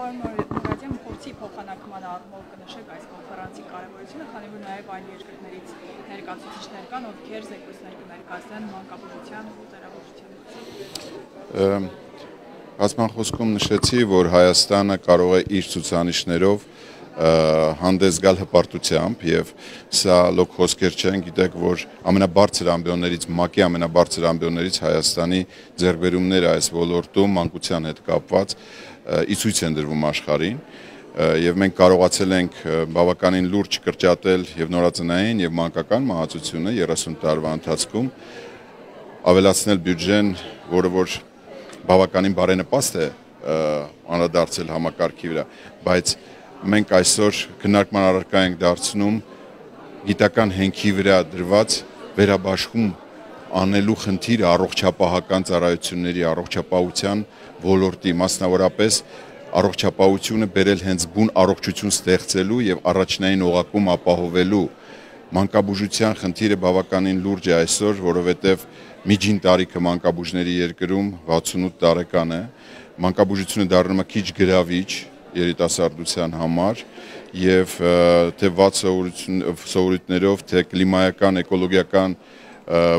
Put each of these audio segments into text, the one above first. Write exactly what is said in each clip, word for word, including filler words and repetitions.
Պարոն փորձի փոխանակման առումով կնշեք այս կոնֆերանսի կարևորությունը, քանի որ նաև այլ երկրներից ներկայացուցիչներ կան, ովքեր զեկույցներ կներկայացնեն մանկաբուժության ու ծերաբուժության մասին։ Բացման խոսքում նշեցի, որ Հայաստանը կարող է իր ցուցանիշներով հանդես գալ հպարտությամբ եւ սա լոկ խոսքեր չեն, գիտեք, որ ամենաբարձր ամբիոններից, ՄԱԿ-ի ամենաբարձր ամբիոններից Հայաստանի ձեռքբերումները այս ոլորտում մանկության հետ կապված ի ցույց են դրվում աշխարհին եւ մենք կարողացել ենք բավականին լուրջ կրճատել եւ նորածնային եւ մանկական մահացությունը երեսուն տարվա ընթացքում, ավելացնել բյուջեն, որը որ բավականին բարենպաստ է անդրադարձել համակարգի վրա, բայց մենք այսօր քննարկման առարկա ենք դարձնում գիտական հենքի վրա դրված վերաբաշխում անելու խնդիրը առողջապահական ծառայությունների, առողջապահության ոլորտի, մասնավորապես առողջապահությունը բերել հենց բուն առողջություն ստեղծելու եւ առաջնային օղակում ապահովելու մանկաբուժության խնդիրը բավականին լուրջ է այսօր, որովհետեւ միջին տարիքը մանկաբուժների երկրում վաթսունութ տարեկան է, մանկաբուժությունը դառնում է քիչ գրավիչ երիտասարդության համար եւ թե վատ սովորույթներով, թե կլիմայական, էկոլոգիական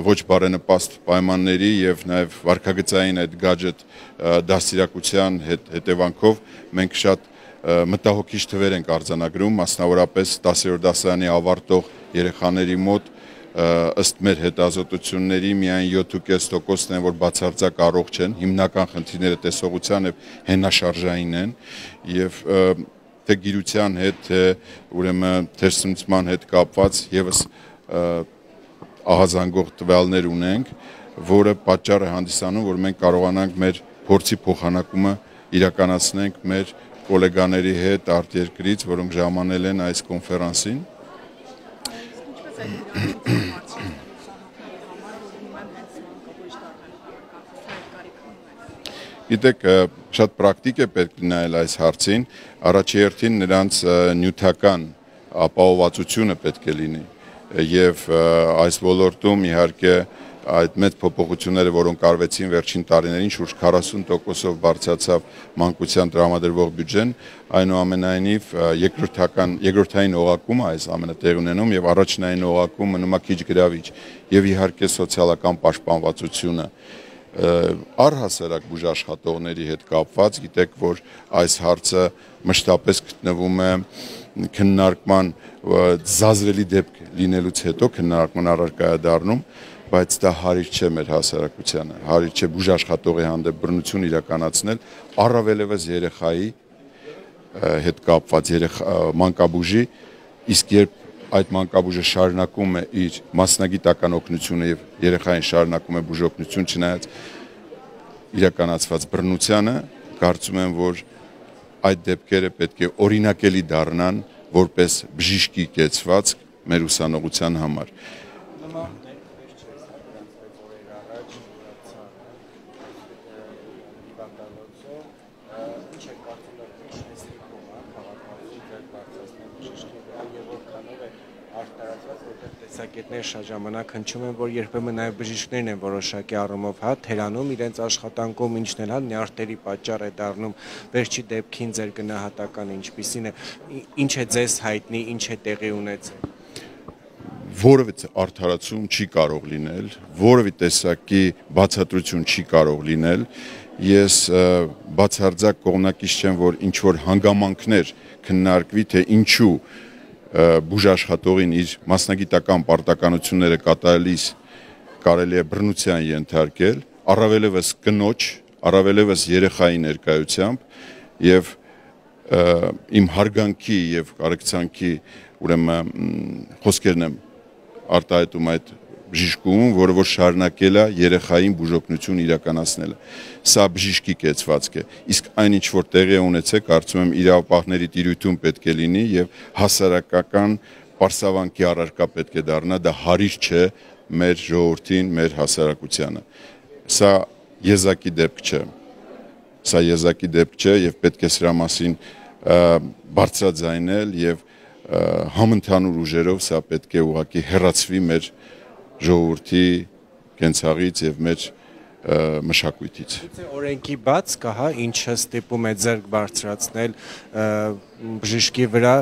ոչ բարենպաստ պայմանների եւ նաեւ վարքագծային այդ գadget դաստիարակության հետևանքով մենք շատ մտահոգիչ թվեր ենք արձանագրում, մասնավորապես դասերորդ դասարանի ավարտող երեխաների մոտ ըստ մեր հետազոտությունների միայն յոթ կես տոկոսն են, որ բացարձակ առողջ են, հիմնական խնդիրները տեսողության եւ հենաշարժային են եւ թե գիրության հետ, թե ուրեմն թերսնուցման հետ կապված եւս ահազանգող տվյալներ ունենք, որը պատճառ է հանդիսանում, որ մենք կարողանանք մեր փորձի փոխանակումը իրականացնենք մեր գոլեգաների հետ արտերկրից, որոնք ժամանել են այս կոնֆերանսին։ Գիտեք, շատ պրակտիկ է պետք նայել այս հարցին, առաջի հերթին նրանց նյութական ապահովվածությունը պետք է լինի եւ այս ոլորտում իհարկե այդ մեծ փոփոխությունները, որոնք արվեցին վերջին տարիներին, շուրջ քառասուն տոկոսով բարձրացավ մանկության տրամադրվող բյուջեն, այնուամենայնիվ երկրորդական երկրորդային օղակում այս ամենը տեղ ունենում եւ առաջնային օղակում մնում է քիչ գրավիչ եւ իհարկե սոցիալական պաշտպանվածությունը առհասարակ բուժաշխատողների հետ կապված, գիտեք, որ այս հարցը մշտապես գտնվում է քննարկման զազրելի դեպք լինելուց հետո քննարկման առարկա է դառնում, բայց դա հարիր չէ մեր հասարակությանը, հարիր չէ բուժաշխատողի հանդեպ բռնություն իրականացնել, առավելևս երեխայի հետ կապված մանկաբուժի, իսկ երբ այդ մանկաբուժը շարունակում է իր մասնագիտական օգնությունը եւ երեխային շարունակում է բուժօգնություն, չնայած իրականացված բռնությանը, կարծում եմ, որ այդ դեպքերը պետք է օրինակելի դառնան որպես բժիշկի կեցված մեր ուսանողության համար։ Տեսակետներ շատ ժամանակ հնչում են, որ երբեմն նաև բժիշկներն են որոշակի առումով հա թերանում իրենց աշխատանքում, ինչն էլ հա նյարդերի պատճառ է դառնում, վերջի դեպքին ձեր գնահատականը ինչպիսին է, ինչ է ձեզ հայտնի, ինչ է տեղի ունեցել։ Որևէ արդարացում չի կարող լինել, որևէ տեսակի բացատրություն չի կարող լինել, ես բացարձակ կողմնակից չեմ, որ ինչ որ հանգամանքներ քննարկվի, թե ինչու բուժաշխատողին իր մասնագիտական պարտականությունները կատարելիս կարելի է բռնության ենթարկել, առավելևս կնոջ, առավելևս երեխայի ներկայությամբ եւ իմ հարգանքի եւ կարեկցանքի ուրեմն խոսքերն եմ արտահայտում այդ բժիշկում, որը որ շարունակել է երեխային բուժօգնություն իրականացնելը։ Սա բժիշկի կեցվածք է։ Իսկ այն ինչ որ տեղի է ունեցել, կարծում եմ իրավապահների տիրույթում պետք է լինի եւ հասարակական պարսավանքի առարկա պետք է դառնա, դա հարիր չէ մեր ժողովրդին, մեր հասարակությանը։ Սա եզակի դեպք չէ։ Սա եզակի դեպք չէ եւ պետք է սրա մասին բարձրաձայնել եւ համընդհանուր ուժերով սա պետք է ուղղակի հեռացվի մեր ժողովրդի կենցաղից եւ մեր մշակույթից։ Օրենքի բաց կա, հա, ինչը ստիպում է ձեռք բարձրացնել բժշկի վրա,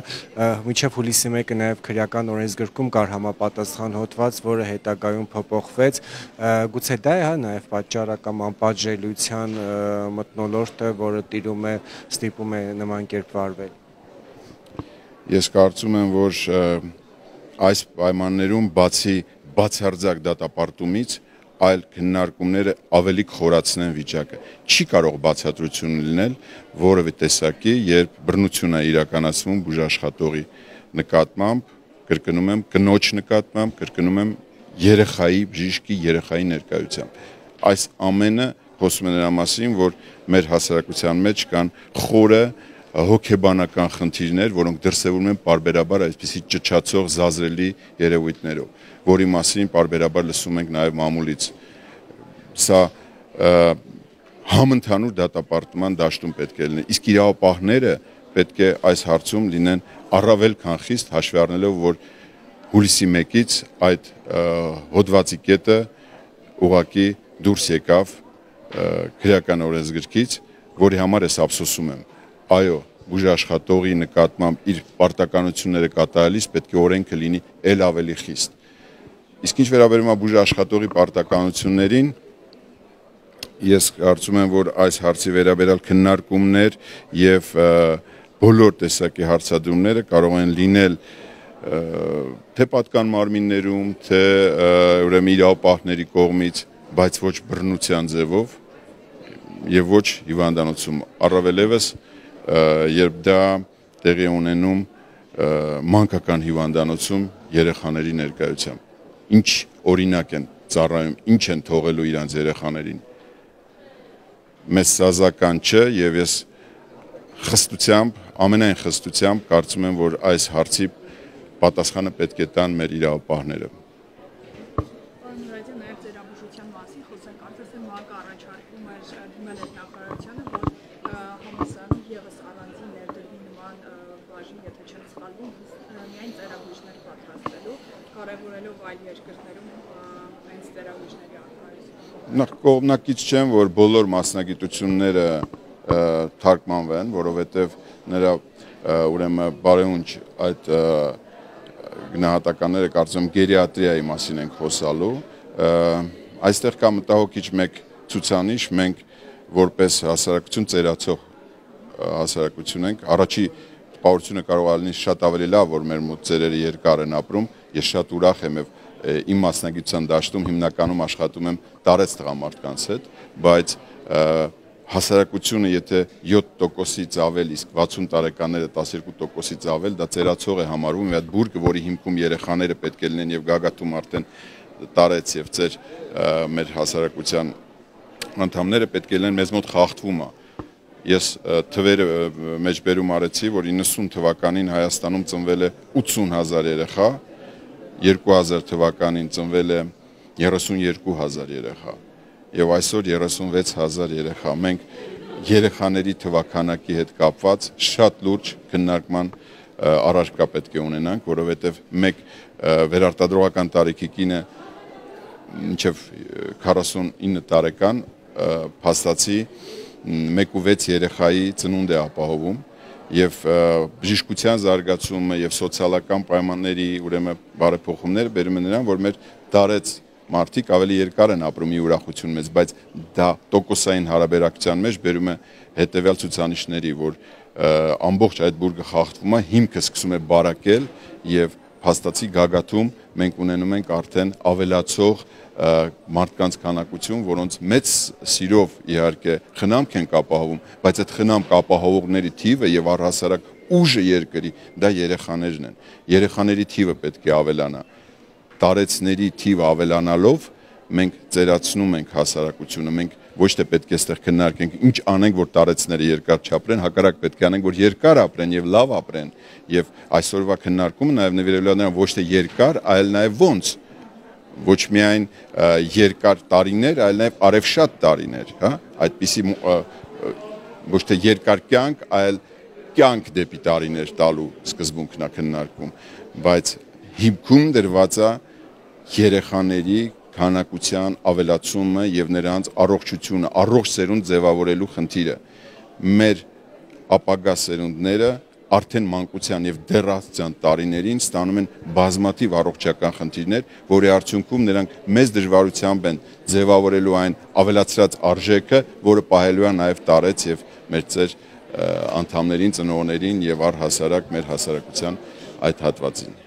մինչև հուլիսի մեկը նաև քրեական օրենսգրքում կար համապատասխան հոդված, որը հետագայում փոփոխվեց, գուցե դա է, հա, նաև պատճառը կամ անպատժելիության մթնոլորտը, որը տիրում է, ստիպում է նման կերպ վարվել։ Ես կարծում եմ, որ այս պայմաններում բացի բացարձակ դատապարտումից այլ քննարկումները ավելի խորացնեն վիճակը։ Չի կարող բացատրություն լինել որևէ տեսակի, երբ բռնություն է իրականացվում բուժաշխատողի նկատմամբ, կրկնում եմ, կնոջ նկատմամբ, կրկնում եմ, երեխայի, բժիշկի երեխայի ներկայությամբ։ Այս ամենը խոսում է նրա մասին, որ մեր հասարակության մեջ կան խորը հոգեբանական խնդիրներ, որոնք դրսևորվում են պարբերաբար այսպիսի ճչացող զազրելի երևույթներով, որի մասին պարբերաբար լսում ենք նաև մամուլից։ Սա համընդհանուր դատապարտման դաշտում պետք է լինի, իսկ իրավապահները պետք է այս հարցում լինեն առավել քան խիստ, հաշվի առնելով, որ հուլիսի մեկից այդ հոդվածի կետը ուղղակի դուրս եկավ քրեական օրենսգրքից, որի համար ես ափսոսում եմ։ Այո, բուժաշխատողի նկատմամբ իր պարտականությունները կատարելիս պետք է օրենքը լինի ել ավելի խիստ։ Իսկ ինչ վերաբերում է բուժաշխատողի պարտականություններին, ես կարծում եմ, որ այս հարցի վերաբերյալ քննարկումներ եւ բոլոր տեսակի հարցադրումները կարող են լինել թե պատկան մարմիններում, թե ուրեմն իրավապահների կողմից, բայց ոչ բռնության ձևով եւ ոչ հիվանդանոցում, առավել եւս երբ դա տեղի ունենում մանկական հիվանդանոցում երեխաների ներկայությամբ։ Ինչ օրինակ են ծառայում, ինչ են թողելու իրանց երեխաներին։ Մեզ սազական չէ եւ ես խստությամբ, ամենայն խստությամբ կարծում եմ, որ այս հարցի պատասխանը պետք է տան մեր իրավապահները։ Պարոն Մուրադյան, նաև ձեր ամբողջության մասին խոսենք, կարծես թե ՄԱԿ-ը առաջարկում էր դիմել այդ նախարարությանը, որ համալսարանում ևս առանձին ներդրվի նման բաժին, եթե չեմ սխալվում, միայն ծերաբույժներ պատրաստելու, կարևորելով այլ երկրներում հենց ծերաբույժների առկայությունը։ Նախ կողմնակից չեմ, որ բոլոր մասնագիտությունները թարգմանվեն, որովհետև նրա ուրեմն բարեունջ այդ գնահատականները կարծում եմ գերիատրիայի մասին ենք խոսալու։ Այստեղ կա մտահոգիչ մեկ ցուցանիշ, մենք որպես հասարակություն ծերացող հասարակություն ենք, առաջի տպավորությունը կարող է լինել շատ ավելի լավ, որ մեր մոտ ծերերը երկար են ապրում, ես շատ ուրախ եմ եւ իմ մասնագիտության դաշտում հիմնականում աշխատում եմ տարեց տղամարդկանց հետ, բայց հասարակությունը եթե յոթ տոկոսից ավել, իսկ վաթսուն տարեկանները տասներկու տոկոսից ավել, դա ծերացող է համարվում, այդ բուրգը, որի հիմքում երեխաները պետք է լինեն եւ գագաթում արդեն տարեց եւ ծեր մեր հասարակության անդամները պետք է լինեն, մեզ մոտ խախտվում է։ Ես թվերը մեջբերում արեցի, որ իննսուն թվականին Հայաստանում ծնվել է ութսուն հազար երեխա, երկու հազար թվականին ծնվել է երեսունյերկու հազար երեխա եւ այսօր երեսունվեց հազար երեխա։ Մենք երեխաների թվականակի հետ կապված շատ լուրջ քննարկման առարկա պետք է ունենանք, որովհետեւ մեկ վերարտադրողական տարիքի կինը մինչեւ քառասունինը տարեկան փաստացի մեկ ու վեց երեխայի ծնունդ է ապահովում եւ բժշկության զարգացումը եւ սոցիալական պայմանների ուրեմն բարեփոխումները բերում են նրան, որ մեր տարեց մարդիկ ավելի երկար են ապրում ի ուրախություն մեզ, բայց դա տոկոսային հարաբերակցության մեջ բերում է հետեւյալ ցուցանիշների, որ ամբողջ այդ բուրգը խախտվում է, հիմքը սկսում է բարակել եւ փաստացի գագաթում մենք ունենում ենք արդեն ավելացող մարդկանց քանակություն, որոնց մեծ սիրով իհարկե խնամք են ապահովում, բայց այդ խնամք ապահովողների թիվը եւ առհասարակ ուժը երկրի դա երեխաներն են։ Երեխաների թիվը պետք է ավելանա։ Տարեցների թիվը ավելանալով մենք ծերացնում ենք հասարակությունը, մենք ոչ թե պետք է այստեղ քննարկենք ինչ անենք, որ տարեցները երկար չապրեն, հակառակ պետք է անենք, որ երկար ապրեն եւ լավ ապրեն։ Եվ այսօրվա քննարկումը նաեւ նվիրելու է նրան ոչ թե երկար, այլ նաեւ ոնց ոչ միայն երկար տարիներ, այլ նաեւ արևշատ տարիներ, հա, այդպիսի ոչ թե երկար կյանք, այլ կյանք դեպի տարիներ տալու սկզբունքն է քննարկվում, բայց հիմքում դրված է երեխաների քանակության ավելացումը եւ նրանց առողջությունը, առողջ սերունդ ձևավորելու խնդիրը։ Մեր ապագա սերունդները արդեն մանկության եւ դեռահասության տարիներին ստանում են բազմաթիվ առողջական խնդիրներ, որի արդյունքում նրանք մեծ դժվարությամբ են ձևավորելու այն ավելացրած արժեքը, որը պահելու է նաեւ տարեց եւ մեր ծեր անդամներին, ծնողներին եւ առհասարակ մեր հասարակության այդ հատվածին։